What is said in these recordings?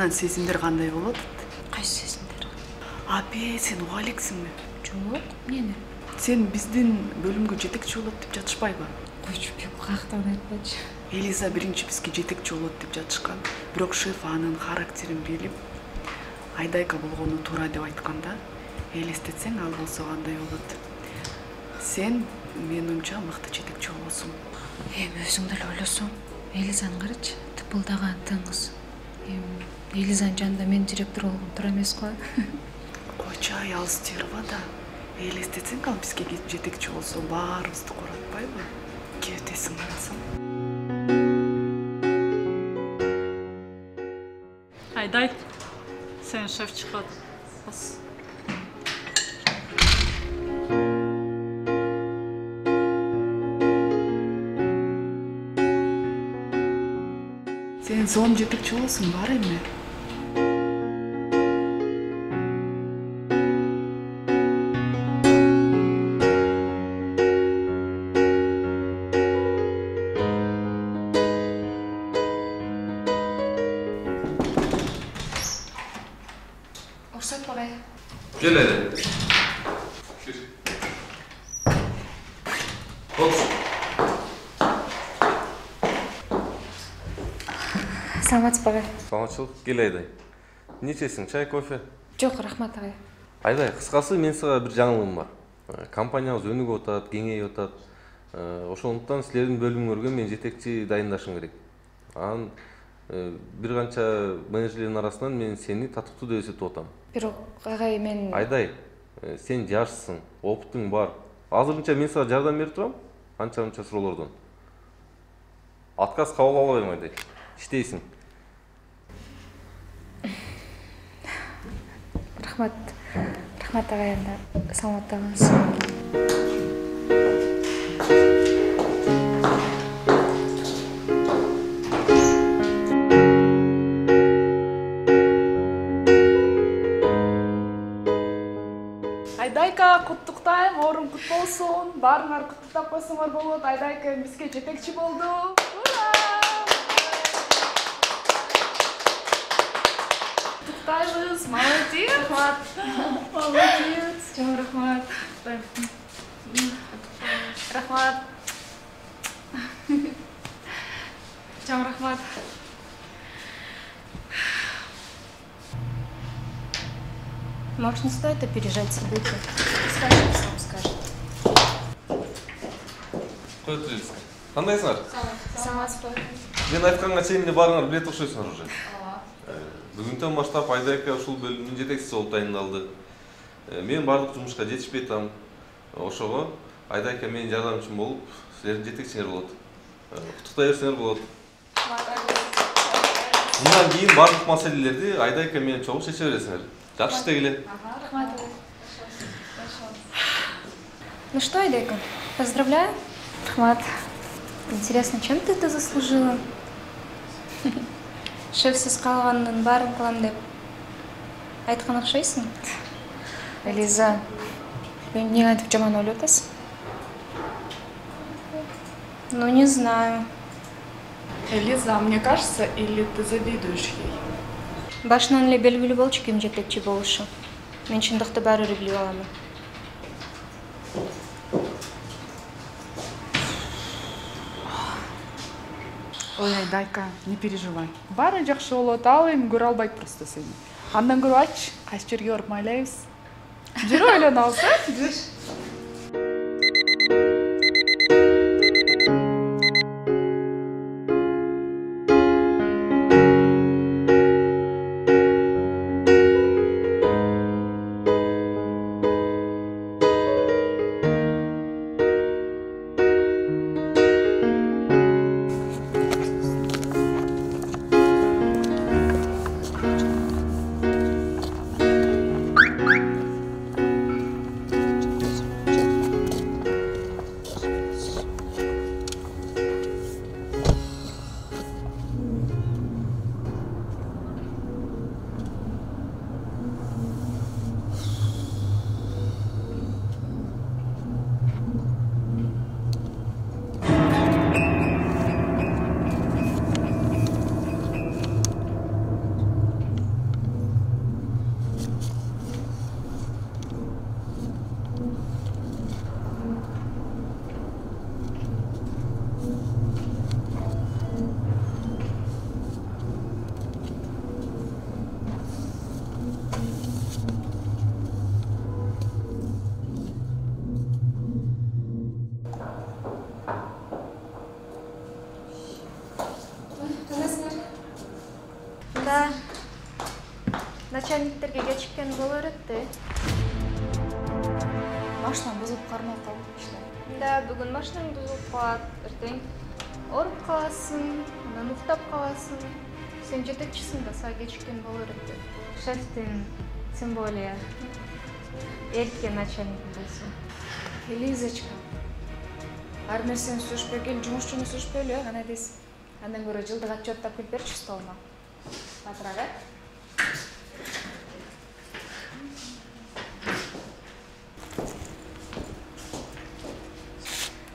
анан сезимдер кандай болот? Кайсы сезимдер? Абе, сен уга элексиңби? Жок, эмне? Сен биздин бөлүмгө жетекчи болот деп жатышпайбы? Койчу, каяктан айтпачы. Элиза биринчи бизге жетекчи болот деп жатышкан. Бирок шеф анын характерин билип, Айдайка болгону туура деп айтканда, элестетсең ал болсо кандай болот? Сен менин оюмча мыкты жетекчи болосуң. Эми өзүң деле ойлосоң, Элизаны карачы, тыпылдаган тыңыз. Элизанын жанында мен директор болгон туура эмес го. Койчу, ай, ал стерва да. Элестетсең ал бизге жетекчи болсо баарыбызды коратпайбы? Кебетесиң анасың. Айдай, сен шеф чыкат. Бас. Сен зон жетекчи болосуң, бар эми. Уруксат багай. Gel hele. Gir. Otur. Саламатсыз багай. Саламатчылык. Кел Айдай. Не içесиң? Чай, кофе? Жок, рахмат агай. Айдай, кыскасы мен сага бир жаңылыгым бар. Компаниябыз өнүгүп атат, кеңейип атат. Ошондуктан силердин бөлүмүңөргө мен жетекчи дайындашым керек. Анан бир канча менеджерлердин арасынан мен сени татыктуу деп эсептеп атам. Бирок агай мен Айдай, сен жашсың, опытың бар. Азырынча мен сага жардам берип турам, анча-мынча суроолордон. Отказ кабыл албайм, Айдай. Иштейсиң. Рахмат. Рахмат агай, анда саламатта болуңуз. Айдайка, куттуктайм, орун кут болсун. Баарыңар куттуктап койсоңор болот. Айдайка бизге жетекчи болду. Куттуктайбыз, молодец. Рахмат. Молодец. Чоң рахмат. Рахмат. Чоң рахмат. Может, не стоит опережать события? Скажи, сам скажет. Кой Тулевска. Кандайсыңар? Саламатсыз ба? Мен айтканга чейин эле баарыңар билет окшойсуңар уже. Бүгүндөн баштап Айдайка ушул бөлүмдүн жетекчиси болуп дайындалды. Мен баардык жумушка жетишпей атам. Ошого Айдайка менин жардамчым болуп, силердин жетекчиңер болот. Куттуктай берсеңер болот. Мындан кийин баардык маселелерди Айдайка менен чогуу чече бересиңер. Жакшы иштегиле. Рахмат. Ну что, Айдайка, поздравляю. Рахмат. Интересно, чем ты это заслужила? Шефсиз калганын баарын кылам деп айткан окшойсуң. Элиза, эмне айтып жаман ойлоп атасың? Ну, не знаю. Элиза, мне кажется, или ты завидуешь ей? Башынан эле белгилүү болчу ким жетекчи болушу. Мен чындыкты баары бир билип аламын. Ой, Айдайка, не переживай. Баары жакшы болот, ал эми көрө албайт просто сени. Андан көрүп ачы, кайсы жерге барып майлайбыз. Жүрүп ойлонобуз, жүр. начальниктерге кечиккен боло берет да. Машинам бузулуп кармалып калды иште. Да, бүгүн машинаң бузулуп калат, эртең ооруп каласың, анан уктап каласың. Сен жетекчисиң да, сага кечиккен боло берет. Шефтин тем более эрке начальник болсун. Элизочка, ар нерсени сүрүшпөй кел, жумушчуну сүрүшпөй эле, кандай дейсиң? Андан көрө жылдык отчет тап келип берчи столума. Батыраак,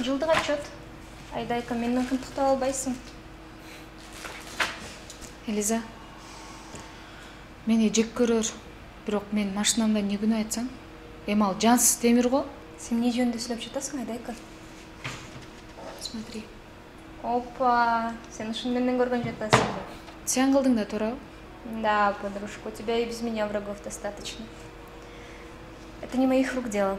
Жылдык отчет. Айдайка, менден кымтыктап албайсың. Элиза, мени жек көрөр, бирок мен машинамда эмне күнөө айтсаң? Эми ал жансыз темир го. Сен эмне жөнүндө сүйлөп жатасың, Айдайка? Смотри. Опа, сен ушуну менден көргөн жатасың да. Сен кылдың да туурабы? Да, подружка, у тебя и без меня врагов достаточно. Это не моих рук дело.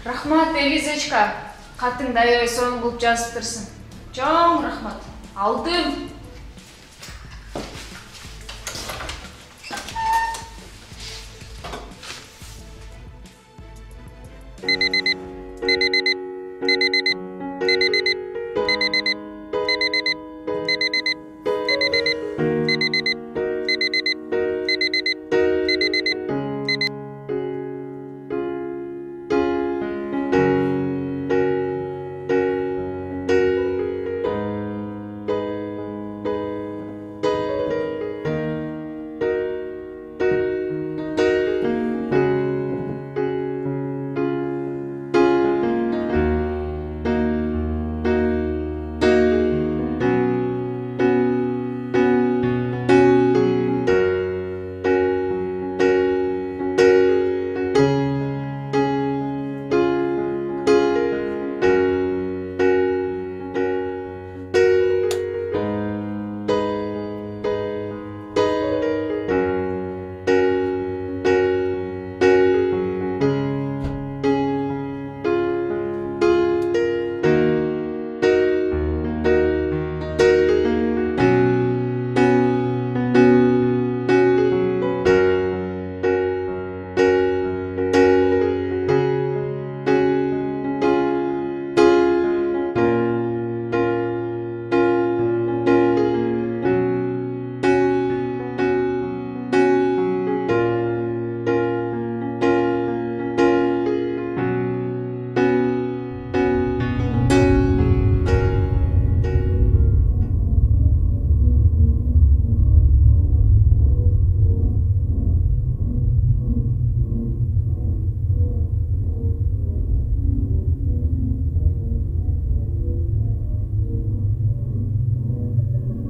Рахмат, Элизочка. Катыңды аябай сонун кылып жазыптырсың. Чоң рахмат. Алдым.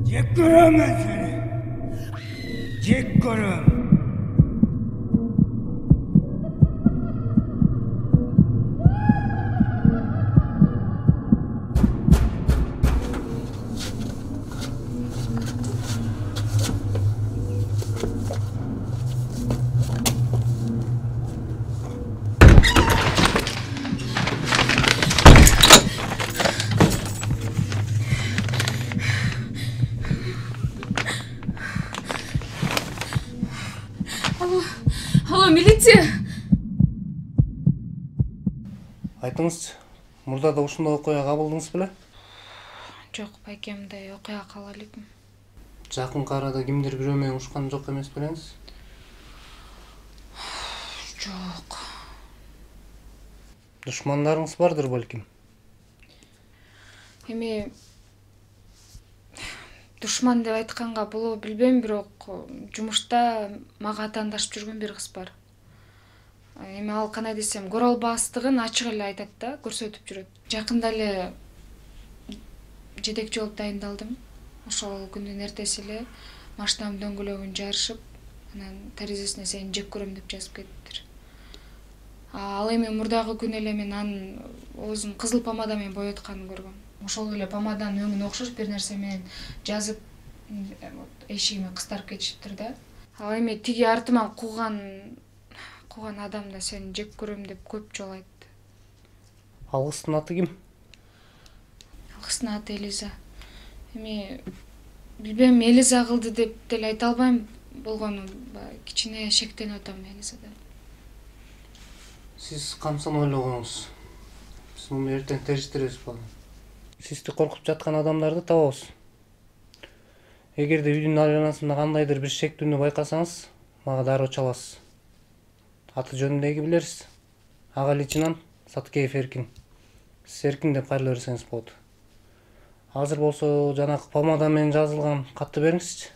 Jek göremem seni. Jek göremem. Алло, милиция! Айтыңызчы, мурда да ушундай окуя кабылдыңыз беле? Жок, байкем, мындай окуя кабыл элекмин. Жакынкы арада кимдир бирөө менен ушкан жок эмес белеңиз? Жок. Душмандарыңыз бардыр балким. Эми душман деп айтканга болобу билбейм, бирок жумушта мага атаандашып жүргөн бир кыз бар. Эми ал кандай десем, көрө албастыгын ачык эле айтат да, көрсөтүп жүрөт. Жакында эле жетекчи болуп дайындалдым. Ошол күндүн эртеси эле машинамдын дөңгөлөгүн жарышып, анан терезесине сени жек көрөм деп жазып кетиптир. Ал эми мурдагы күнү эле мен анын оозун кызыл помада менен боyoтканын көргөм. Ошол эле помаданын өңүнө окшош бир нерсе менен жазып эшигиме кыстарып кетишиптир да. Ал эми тиги артыман кууган адам да сени жек көрөм деп көп жолу айтты. Ал кыздын аты ким? Ал кыздын аты Элиза. Эми билбейм, Элиза кылды деп деле айта албайм, болгону кичине шектенип атам Элизадан. Сиз камсын ойлоп коюңуз. Биз муну эртең териштиребиз балам. Сизди коркутуп жаткан адамдарды табабыз. Эгерде үйдүн айланасында кандайдыр бир шектүүнү байкасаңыз, мага дароо чаласыз. Аты жөнүн деги билерсиз. Ага личинант Саткеев Эркин. Сиз Эркин деп кайрыла берсеңиз болот. Азыр болсо жанакы помада менен жазылган катты бериңизчи.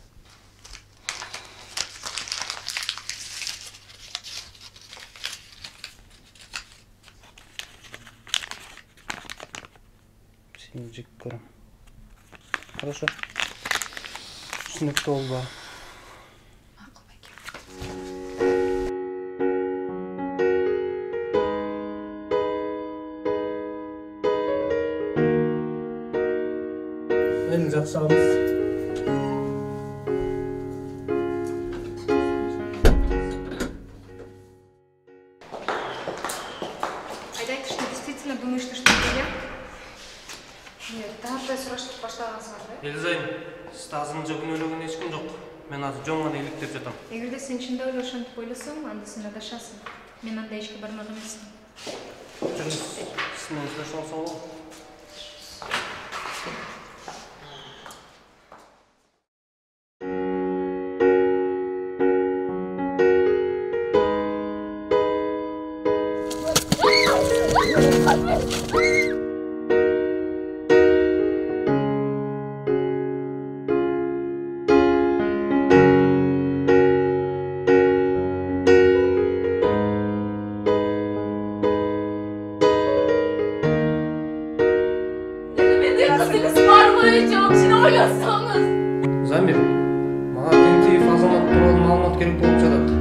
Сени жек көрөм. Хорошо. Түшүнүктүү болду. Макул байкем. Эң жакшы агыс. Айдайт, что действительно думаешь, что я? Нет, таңаттай сурашып баштагансыңар да? Элизайым, сизди азырынча күнөөлөгөн эч ким жок. Мен азыр жөн гана иликтеп жатам. Эгерде сен чындап эле ошентип ойлосоң, анда сен адашасың. Мен андай ишке бармак эмесмин. Жүрүңүз, сиз менен сүйлөшүп алсам болобу? Замир, мага Тентиев азамат тууралуу маалымат керек болуп жатат.